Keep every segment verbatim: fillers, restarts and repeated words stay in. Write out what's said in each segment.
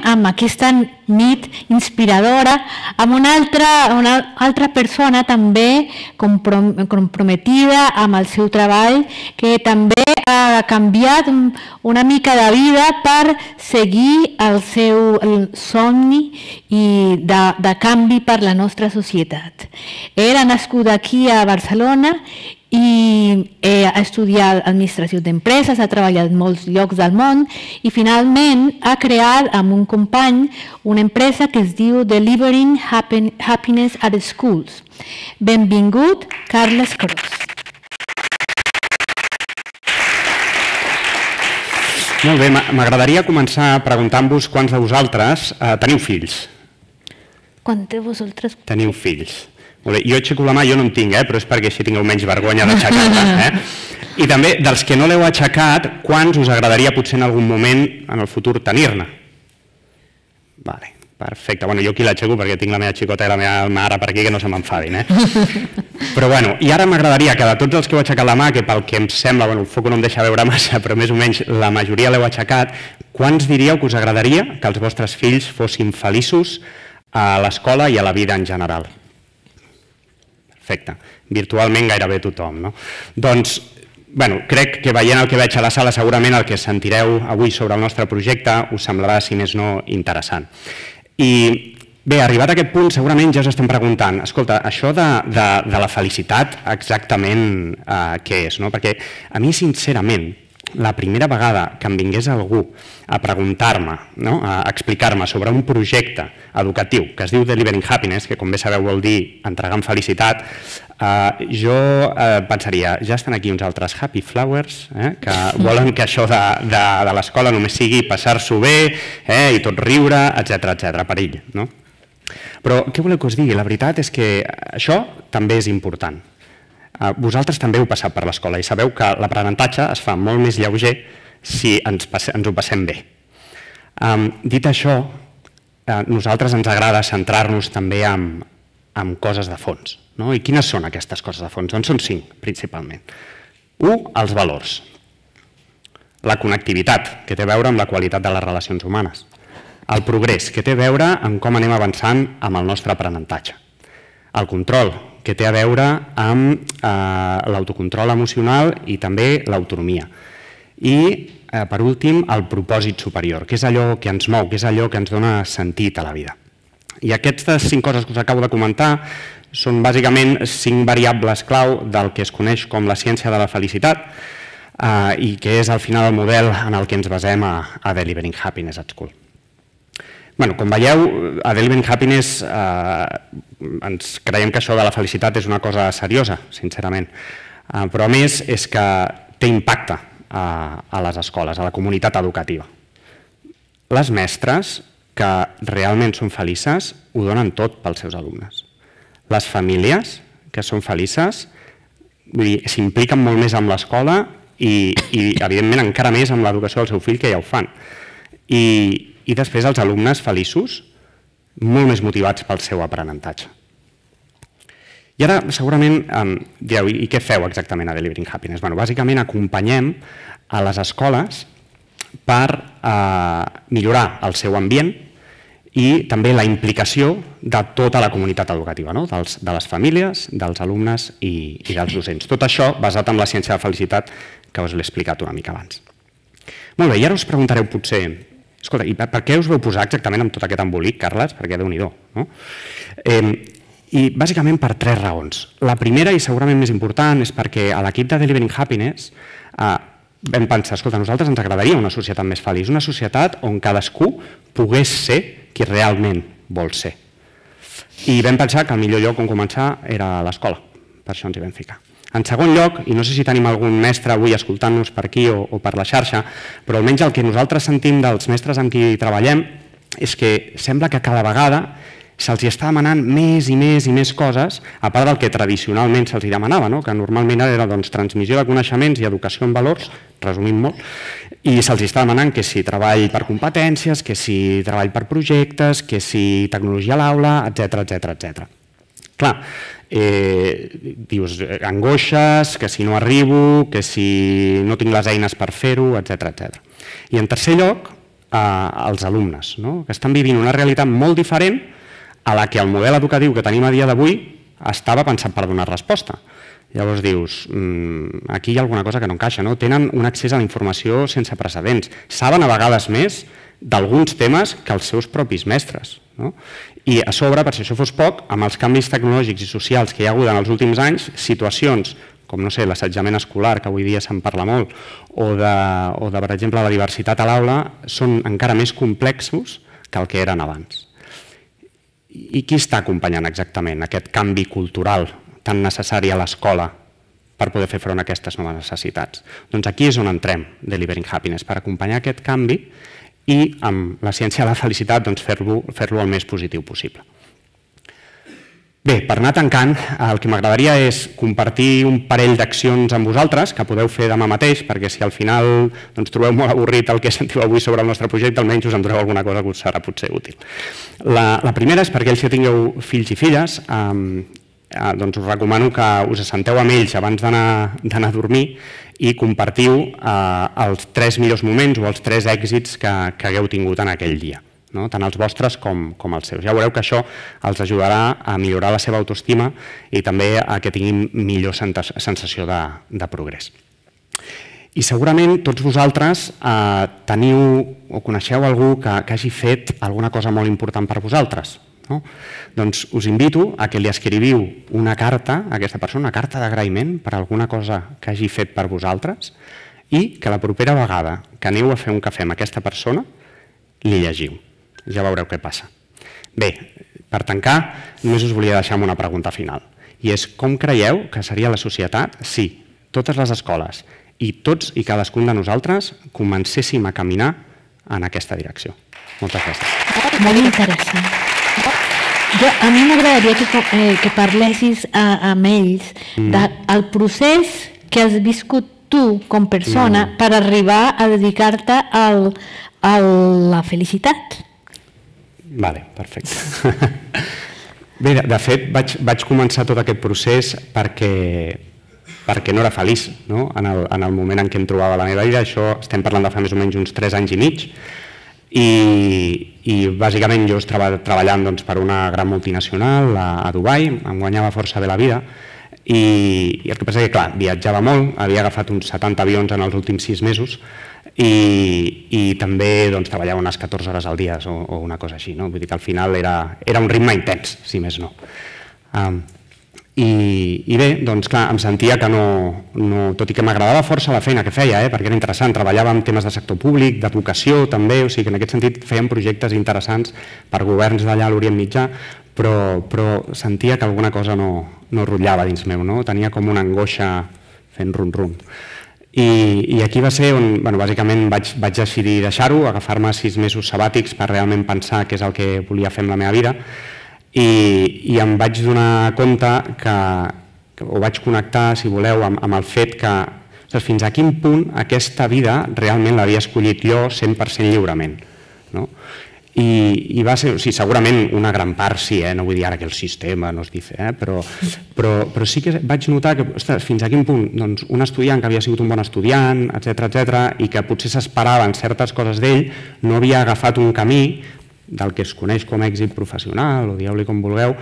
Amb aquesta nit inspiradora, amb una altra, una altra persona també comprometida amb el seu treball, que també ha canviat una mica de vida per seguir el seu el somni i de, de canvi per la nostra societat. Era nascuda aquí a Barcelona i eh, ha estudiat administració d'empreses, ha treballat en molts llocs del món i finalment ha creat amb un company una empresa que es diu Delivering Happiness at Schools. Benvingut, Carles Cros. Molt bé, m'agradaria començar preguntant-vos quants de vosaltres eh, teniu fills? Quants de vosaltres? Teniu fills. Molt bé, jo aixeco la mà, jo no en tinc, eh, però és perquè així tingueu menys vergonya d'aixecar-la. Eh? I també, dels que no l'heu aixecat, quants us agradaria potser en algun moment en el futur tenir-ne? Vale, perfecte. Bueno, jo aquí l'aixeco perquè tinc la meva xicota i la meva mare per aquí que no se m'enfadin. Eh? Però bueno, i ara m'agradaria que de tots els que heu aixecat la mà, que pel que em sembla, bueno, el foc no em deixa veure massa, però més o menys la majoria l'heu aixecat, quants diríeu que us agradaria que els vostres fills fossin feliços a l'escola i a la vida en general? Perfecte. Virtualment gairebé tothom, no? Doncs, bueno, crec que veient el que veig a la sala segurament el que sentireu avui sobre el nostre projecte us semblarà, si més no, interessant. I bé, arribat a aquest punt segurament ja us estem preguntant, escolta, això de, de, de la felicitat exactament eh, què és, no? Perquè a mi sincerament la primera vegada que em vingués algú a preguntar-me, no? A explicar-me sobre un projecte educatiu que es diu Delivering Happiness, que com bé sabeu vol dir entregant felicitat, eh, jo eh, pensaria, ja estan aquí uns altres happy flowers eh, que volen que això de, de, de l'escola només sigui passar-s'ho bé eh, i tot riure, etcètera, etcètera, per ell, no? Però què voleu que us digui? La veritat és que això també és important. Vosaltres també heu passat per l'escola i sabeu que l'aprenentatge es fa molt més lleuger si ens, ens ho passem bé. Um, dit això, a nosaltres ens agrada centrar-nos també en, en coses de fons. No? I quines són aquestes coses de fons? Doncs són cinc, principalment. Un, els valors. La connectivitat, que té a veure amb la qualitat de les relacions humanes. El progrés, que té a veure amb com anem avançant amb el nostre aprenentatge. El control, que té a veure amb eh, l'autocontrol emocional i també l'autonomia. I, eh, per últim, el propòsit superior, que és allò que ens mou, que és allò que ens dona sentit a la vida. I aquestes cinc coses que us acabo de comentar són bàsicament cinc variables clau del que es coneix com la ciència de la felicitat eh, i que és al final el model en el que ens basem a, a Delivering Happiness at School. Bueno, com veieu, a Delivering Happiness eh, ens creiem que això de la felicitat és una cosa seriosa, sincerament. Eh, però a més és que té impacte a, a les escoles, a la comunitat educativa. Les mestres que realment són felices ho donen tot pels seus alumnes. Les famílies que són felices s'impliquen molt més amb l'escola i, i evidentment encara més amb l'educació del seu fill, que ja ho fan. I I després els alumnes feliços, molt més motivats pel seu aprenentatge. I ara segurament em direu, i què feu exactament a Delivering Happiness? Bueno, bàsicament acompanyem a les escoles per eh, millorar el seu ambient i també la implicació de tota la comunitat educativa, no? Dels, de les famílies, dels alumnes i, i dels docents. Tot això basat en la ciència de la felicitat que us l'he explicat una mica abans. Molt bé, i ara us preguntareu potser, escolta, i per què us vau posar exactament amb tot aquest embolic, Carles? Perquè Déu-n'hi-do, no? Eh, I bàsicament per tres raons. La primera, i segurament més important, és perquè a l'equip de Delivering Happiness eh, vam pensar, escolta, a nosaltres ens agradaria una societat més feliç, una societat on cadascú pogués ser qui realment vol ser. I vam pensar que el millor lloc on començar era l'escola, per això ens hi vam ficar. En segon lloc, i no sé si tenim algun mestre avui escoltant-nos per aquí o, o per la xarxa, però almenys el que nosaltres sentim dels mestres amb qui treballem és que sembla que cada vegada se'ls està demanant més i més i més coses, a part del que tradicionalment se'ls demanava, no? Que normalment era doncs, transmissió de coneixements i educació en valors, resumint molt, i se'ls està demanant que si treball per competències, que si treball per projectes, que si tecnologia a l'aula, etcètera, etcètera, etcètera. Clar, eh, dius angoixes, que si no arribo, que si no tinc les eines per fer-ho, etcètera, etcètera. I en tercer lloc, eh, els alumnes, no? Que estan vivint una realitat molt diferent a la que el model educatiu que tenim a dia d'avui estava pensat per donar resposta. Llavors dius, mmm, aquí hi ha alguna cosa que no encaixa, no? Tenen un accés a la informació sense precedents, saben a vegades més d'alguns temes que els seus propis mestres, no? I a sobre, per si això fos poc, amb els canvis tecnològics i socials que hi ha hagut en els últims anys, situacions com, no sé, l'assetjament escolar, que avui dia se'n parla molt, o de, o de, per exemple, la diversitat a l'aula, són encara més complexos que el que eren abans. I qui està acompanyant exactament aquest canvi cultural tan necessari a l'escola per poder fer front a aquestes noves necessitats? Doncs aquí és on entrem, Delivering Happiness, per acompanyar aquest canvi i amb la ciència de la felicitat doncs, fer-lo fer-lo el més positiu possible. Bé, per anar tancant, el que m'agradaria és compartir un parell d'accions amb vosaltres que podeu fer demà mateix, perquè si al final doncs, trobeu molt avorrit el que sentiu avui sobre el nostre projecte, almenys us en doneu alguna cosa que us serà potser útil. La, la primera és perquè ells que tingueu fills i filles, eh, eh, doncs us recomano que us assenteu amb ells abans d'anar a dormir i compartiu eh, els tres millors moments o els tres èxits que, que hagueu tingut en aquell dia, no? Tant els vostres com, com els seus. Ja veureu que això els ajudarà a millorar la seva autoestima i també a que tinguin millor sensació de, de progrés. I segurament tots vosaltres eh, teniu o coneixeu algú que, que hagi fet alguna cosa molt important per vosaltres, no? Doncs us invito a que li escriviu una carta a aquesta persona, una carta d'agraïment per alguna cosa que hagi fet per vosaltres i que la propera vegada que aneu a fer un cafè amb aquesta persona li llegiu. Ja veureu què passa. Bé, per tancar, només us volia deixar amb una pregunta final. I és com creieu que seria la societat si totes les escoles i tots i cadascun de nosaltres comencéssim a caminar en aquesta direcció? Moltes gràcies. Molt interessant. Jo, a mi m'agradaria que, eh, que parlessis a, amb ells mm. del procés que has viscut tu com persona mm. per arribar a dedicar-te al, a la felicitat. Vale, perfecte. Bé, de, de fet, vaig, vaig començar tot aquest procés perquè, perquè no era feliç, no? En, el, en el moment en què em trobava la meva vida. Això estem parlant de fa més o menys uns tres anys i mig. I, i bàsicament jo estava treballant doncs, per una gran multinacional a, a Dubai, em guanyava força bé la vida i, i el que passa és que, clar, viatjava molt, havia agafat uns setanta avions en els últims sis mesos i, i també doncs, treballava unes catorze hores al dia o, o una cosa així, no? Vull dir que al final era, era un ritme intens, si més no. Um, I, i bé, doncs clar, em sentia que no, no tot i que m'agradava força la feina que feia, eh, perquè era interessant, treballava en temes de sector públic, d'educació també, o sigui que en aquest sentit fèiem projectes interessants per governs d'allà a l'Orient Mitjà, però, però sentia que alguna cosa no, no rotllava dins meu, no? Tenia com una angoixa fent rum-rum. I, I aquí va ser on, bueno, bàsicament vaig, vaig decidir deixar-ho, agafar-me sis mesos sabàtics per realment pensar què és el que volia fer amb la meva vida. I, i em vaig donar compte que, que, o vaig connectar, si voleu, amb, amb el fet que ostres, fins a quin punt aquesta vida realment l'havia escollit jo cent per cent lliurement. No? I, i va ser, o sigui, segurament una gran part sí, eh? No vull dir ara que el sistema nos dice, eh? però, però, però sí que vaig notar que ostres, fins a quin punt doncs, un estudiant que havia sigut un bon estudiant, etcètera, etcètera, i que potser s'esperaven certes coses d'ell, no havia agafat un camí del que es coneix com a èxit professional, o dieu-li com vulgueu,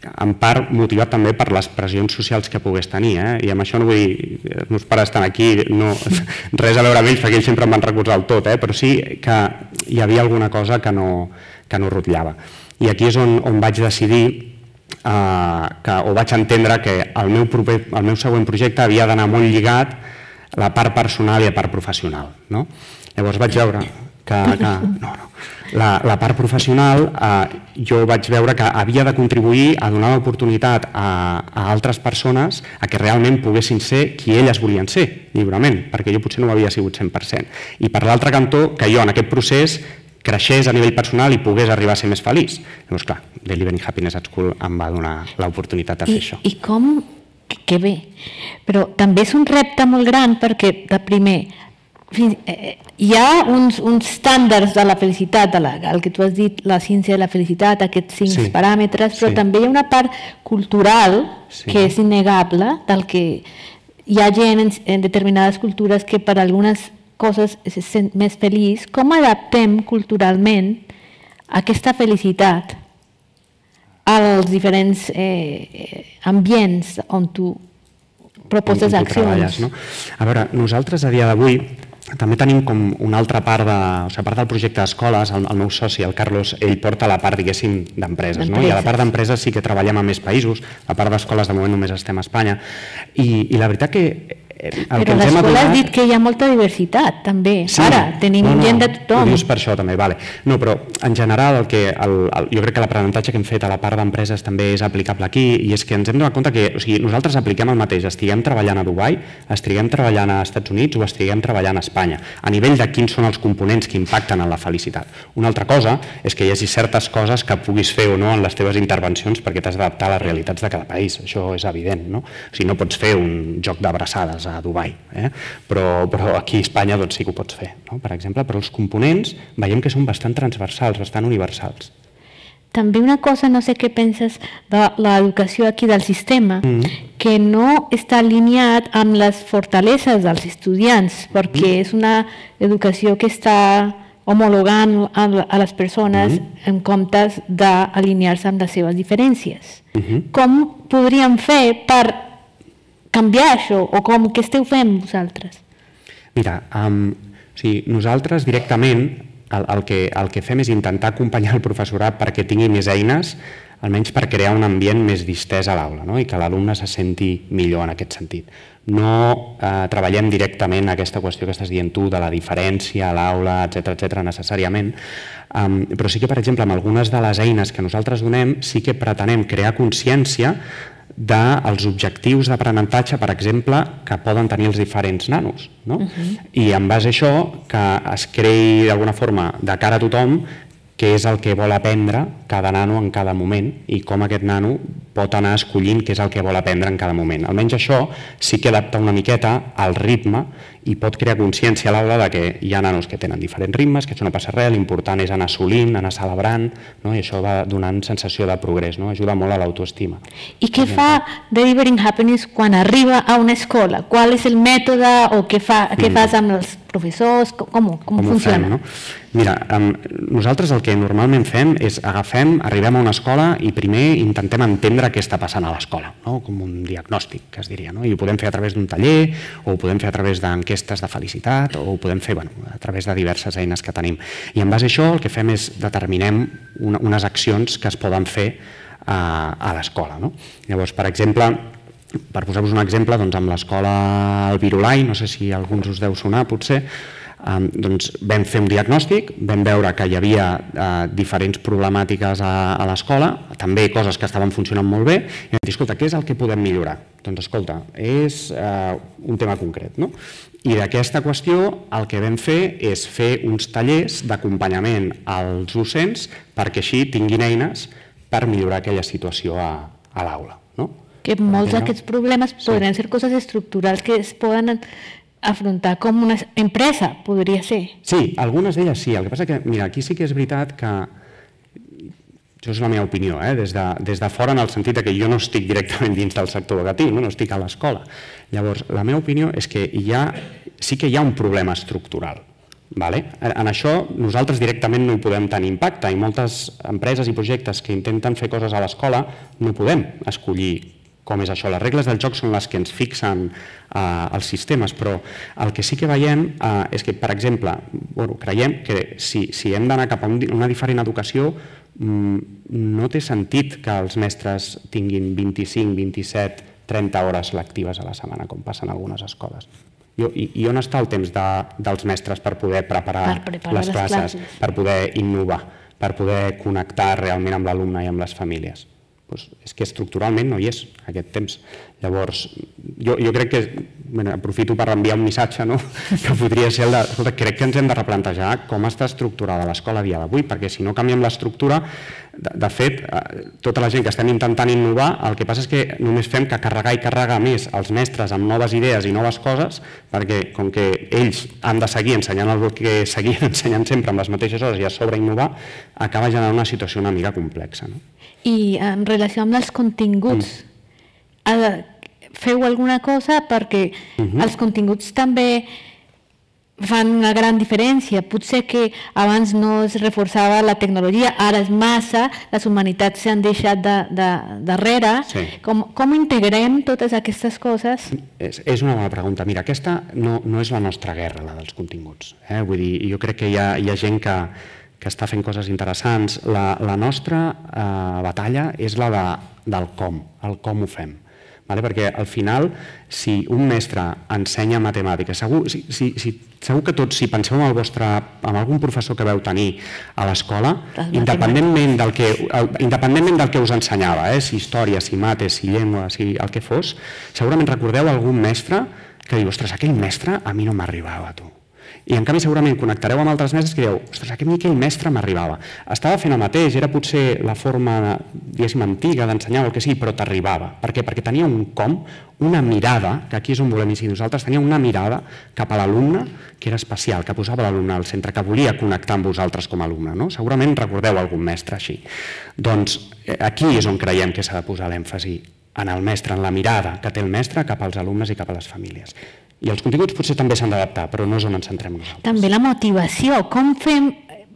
en part motivat també per les pressions socials que pogués tenir. Eh? I amb això no vull dir, els meus pares estan aquí, no, res a veure amb ells, perquè ells sempre em van recolzar el tot, eh? Però sí que hi havia alguna cosa que no, que no rotllava. I aquí és on, on vaig decidir, eh, que, o vaig entendre que el meu, proper, el meu següent projecte havia d'anar molt lligat a la part personal i a la part professional. No? Llavors vaig veure que... que no, no. La, la part professional, eh, jo vaig veure que havia de contribuir a donar l'oportunitat a, a altres persones a que realment poguessin ser qui elles volien ser, lliurement, perquè jo potser no ho havia sigut cent per cent. I per l'altre cantó, que jo en aquest procés creixés a nivell personal i pogués arribar a ser més feliç. Llavors, clar, Delivering Happiness at School em va donar l'oportunitat de fer I, això. I com? Que bé. Però també és un repte molt gran perquè, de primer, hi ha uns, uns estàndards de la felicitat, de la, el que tu has dit, la ciència de la felicitat, aquests cinc sí. paràmetres, però sí. també hi ha una part cultural sí. que és innegable, del que hi ha gent en, en determinades cultures que per algunes coses se sent més feliç. Com adaptem culturalment aquesta felicitat als diferents eh, ambients on tu proposes on, on accions? No? A veure, nosaltres a dia d'avui també tenim com una altra part, de, o sigui, a part del projecte d'escoles, el, el meu soci, el Carlos, ell porta la part, diguéssim, d'empreses. No? I a la part d'empreses sí que treballem a més països, a part d'escoles de moment només estem a Espanya. I, i la veritat que El Però l'escola adonat... has dit que hi ha molta diversitat, també. Sí. Ara, tenim no, no, gent de tothom. Ho dius per això, també. Vale. No, però en general el que, el, el, jo crec que l'aprenentatge que hem fet a la part d'empreses també és aplicable aquí, i és que ens hem donat compte que o sigui, nosaltres apliquem el mateix, estiguem treballant a Dubai, estiguem treballant a Estats Units o estiguem treballant a Espanya, a nivell de quins són els components que impacten en la felicitat. Una altra cosa és que hi hagi certes coses que puguis fer o no en les teves intervencions perquè t'has d'adaptar a les realitats de cada país, això és evident, no? O sigui, no pots fer un joc d'abraçades a Dubai, eh? però, però aquí a Espanya doncs, sí que ho pots fer, no? Per exemple, però els components veiem que són bastant transversals, bastant universals. També una cosa, no sé què penses de l'educació aquí del sistema, mm. que no està alineat amb les fortaleses dels estudiants, perquè mm. és una educació que està homologant a les persones mm. en comptes d'alinear-se amb les seves diferències. Mm-hmm. Com podríem fer per canviar això, o com, què esteu fent vosaltres? Mira, um, o sigui, nosaltres directament el, el, que, el que fem és intentar acompanyar el professorat perquè tingui més eines, almenys per crear un ambient més distès a l'aula, no? I que l'alumne se senti millor en aquest sentit. No eh, treballem directament aquesta qüestió que estàs dient tu de la diferència a l'aula, etcètera, etcètera, necessàriament, um, però sí que, per exemple, amb algunes de les eines que nosaltres donem, sí que pretenem crear consciència dels objectius d'aprenentatge, per exemple, que poden tenir els diferents nanos. No? Uh-huh. I en base a això, que es creï d'alguna forma de cara a tothom què és el que vol aprendre cada nano en cada moment i com aquest nano pot anar escollint què és el que vol aprendre en cada moment. Almenys això sí que adapta una miqueta al ritme i pot crear consciència a l'aula de que hi ha nanos que tenen diferents ritmes, que això no passa res, l'important és anar assolint, anar celebrant, no? I això va donant sensació de progrés, no? Ajuda molt a l'autoestima. I què fa Delivering Happiness quan arriba a una escola? Qual és el mètode o què, fa, què mm. fas amb els professors? Com, com, com funciona? Fem, no? Mira, um, nosaltres el que normalment fem és agafem, arribem a una escola i primer intentem entendre què està passant a l'escola, no? Com un diagnòstic, que es diria, no? I ho podem fer a través d'un taller, o ho podem fer a través d'enquestes de felicitat, o ho podem fer bueno, a través de diverses eines que tenim. I en base a això el que fem és determinem una, unes accions que es poden fer a, a l'escola, no? Llavors, per exemple, per posar-vos un exemple, doncs amb l'escola El Virolai, no sé si alguns us deu sonar potser, Um, doncs vam fer un diagnòstic, vam veure que hi havia uh, diferents problemàtiques a, a l'escola, també coses que estaven funcionant molt bé, i vam dir, escolta, què és el que podem millorar? Doncs escolta, és uh, un tema concret, no? I d'aquesta qüestió el que vam fer és fer uns tallers d'acompanyament als docents perquè així tinguin eines per millorar aquella situació a, a l'aula, no? Que molts d'aquests problemes podrien ser coses estructurals que es poden afrontar com una empresa, podria ser. Sí, algunes d'elles sí. El que passa que, mira, aquí sí que és veritat que, això és la meva opinió, eh? des, de, des de fora en el sentit que jo no estic directament dins del sector educatiu, no, no estic a l'escola. Llavors, la meva opinió és que hi ha, sí que hi ha un problema estructural. Vale? En això nosaltres directament no hi podem tenir impacte i moltes empreses i projectes que intenten fer coses a l'escola no podem escollir com és això. Les regles del joc són les que ens fixen eh, els sistemes, però el que sí que veiem eh, és que, per exemple, bueno, creiem que si, si hem d'anar cap a una diferent educació, mmm, no té sentit que els mestres tinguin vint-i-cinc, vint-i-set, trenta hores lectives a la setmana, com passa en algunes escoles. I, I on està el temps de, dels mestres per poder preparar, per preparar les, les classes, classes, per poder innovar, per poder connectar realment amb l'alumne i amb les famílies? Pues és que estructuralment no hi és aquest temps. Llavors, jo, jo crec que aprofito per enviar un missatge, que podria ser el de, escolta, crec que ens hem de replantejar com està estructurada l'escola a dia d'avui, perquè si no canviem l'estructura, de fet, tota la gent que estem intentant innovar, el que passa és que només fem que carregar i carregar més els mestres amb noves idees i noves coses, perquè com que ells han de seguir ensenyant el que seguien ensenyant sempre amb les mateixes hores i a sobre innovar, acaba generant una situació una mica complexa. I en relació amb els continguts, feu alguna cosa perquè els continguts també fan una gran diferència. Potser que abans no es reforçava la tecnologia, ara és massa, les humanitats s'han deixat darrere. Com integrem totes aquestes coses? És una bona pregunta. Mira, aquesta no és la nostra guerra, la dels continguts. Vull dir, jo crec que hi ha gent que que està fent coses interessants. La nostra batalla és la del com, el com ho fem. Perquè al final, si un mestre ensenya matemàtiques, segur que tots, si penseu en algun professor que veu tenir a l'escola, independentment del que us ensenyava, si història, si mates, si llengua, si el que fos, segurament recordeu algun mestre que diu, ostres, aquell mestre a mi no m'arribava, tu. I en canvi segurament connectareu amb altres mestres que dieu, ostres, aquell mestre m'arribava. Estava fent el mateix, era potser la forma, diguéssim, antiga d'ensenyar o el que sigui, però t'arribava. Per què? Perquè tenia un com, una mirada, que aquí és on volem incidir nosaltres, tenia una mirada cap a l'alumne que era especial, que posava l'alumne al centre, que volia connectar amb vosaltres com a alumne. Segurament recordeu algun mestre així. Doncs aquí és on creiem que s'ha de posar l'èmfasi, en el mestre, en la mirada que té el mestre cap als alumnes i cap a les famílies. I els continguts potser també s'han d'adaptar, però no és on ens centrem nosaltres. També la motivació. Com fem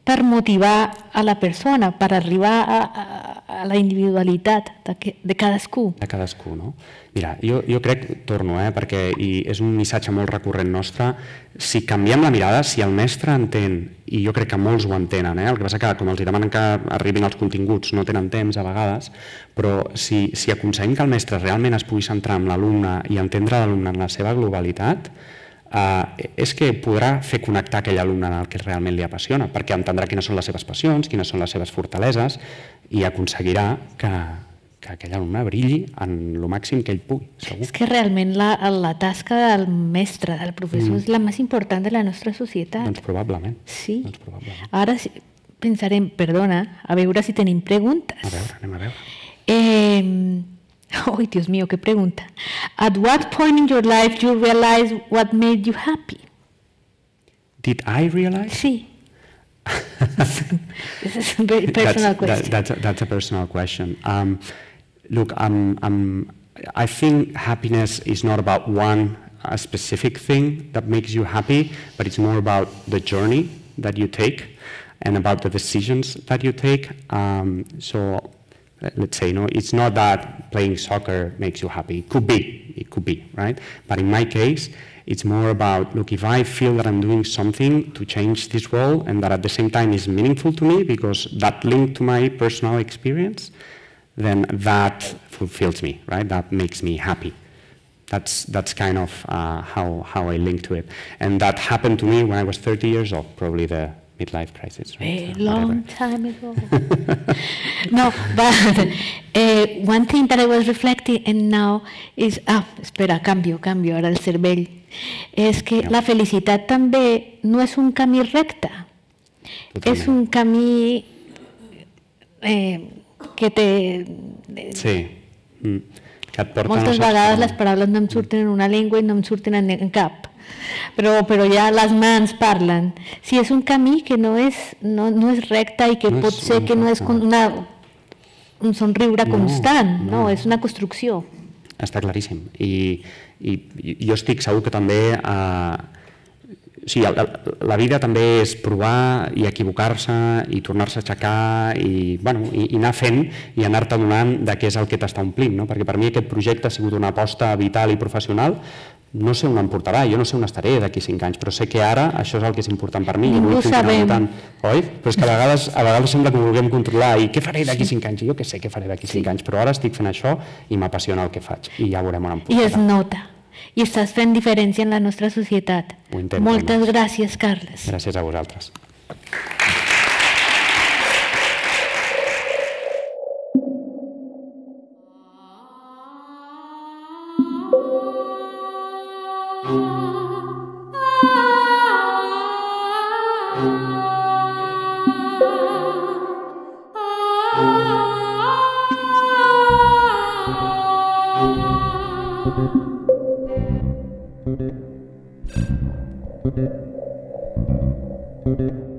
per motivar a la persona, per arribar a la individualitat de cadascú? De cadascú, no? Mira, jo crec, torno, perquè és un missatge molt recurrent nostre, si canviem la mirada, si el mestre entén, i jo crec que molts ho entenen, el que passa que com els demanen que arribin els continguts no tenen temps a vegades, però si aconseguim que el mestre realment es pugui centrar en l'alumne i entendre l'alumne en la seva globalitat, és que podrà fer connectar aquell alumne en el que realment li apassiona, perquè entendrà quines són les seves passions, quines són les seves fortaleses i aconseguirà que aquell alumne brilli en el màxim que ell pugui, segur. És que realment la tasca del mestre, del professor, és la més important de la nostra societat. Doncs probablement. Sí. Ara pensarem, perdona, a veure si tenim preguntes. A veure, anem a veure. Ay, Dios mío, qué pregunta. At what point in your life you realize what made you happy? Did I realize? Sí. This is a very personal question. That's a personal question. Um, look, um, um, I think happiness is not about one a specific thing that makes you happy, but it's more about the journey that you take and about the decisions that you take. Um, so. Let's say, no, it's not that playing soccer makes you happy. It could be, it could be, right? But in my case, it's more about, look, if I feel that I'm doing something to change this world and that at the same time is meaningful to me because that linked to my personal experience, then that fulfills me, right? That makes me happy. That's, that's kind of uh, how, how I link to it. And that happened to me when I was thirty years old, probably the midlife crisis. Right? A long time ago. No, but uh, one thing that I was reflecting and now is, ah, espera, canvio, canvio, ara el cervell, és que yeah. La felicitat també no és un camí recte, totalment. És un camí eh, que té... Sí. Mm. Que et porta moltes vegades les paraules no em surten en una llengua i no em surten en cap. Però, però ja les mans parlen. Si és un camí que no és, no, no és recte i que no pot és, ser que no és una, un somriure no, constant, no. No, és una construcció. Està claríssim. I, i jo estic segur que també... Eh, sí, la, la vida també és provar i equivocar-se i tornar-se a aixecar i, bueno, i, i anar fent i anar-te donant de què és el que t'està omplint, no? Perquè per mi aquest projecte ha sigut una aposta vital i professional. No sé on em portarà, jo no sé on estaré d'aquí cinc anys, però sé que ara això és el que és important per mi. Ningú sabem. Oi? Però és que a vegades, a vegades sembla que ho vulguem controlar i què faré d'aquí cinc anys? Jo què sé què faré d'aquí cinc anys, però ara estic fent això i m'apassiona el que faig i ja veurem on em portarà. I es nota. I estàs fent diferència en la nostra societat. Ho intento. Moltes gràcies, Carles. Gràcies a vosaltres. Thank you.